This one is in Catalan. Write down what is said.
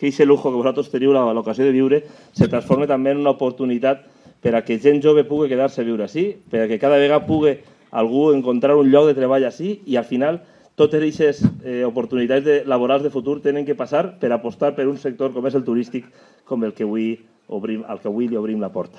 que aquest lujo que vosaltres teniu l'ocasió de viure se transformi també en una oportunitat per a que gent jove pugui quedar-se a viure així, per a que cada vegada pugui algú encontrar un lloc de treball així i al final totes aquestes oportunitats laborals de futur tenen que passar per apostar per un sector com és el turístic, com el que avui li obrim la porta.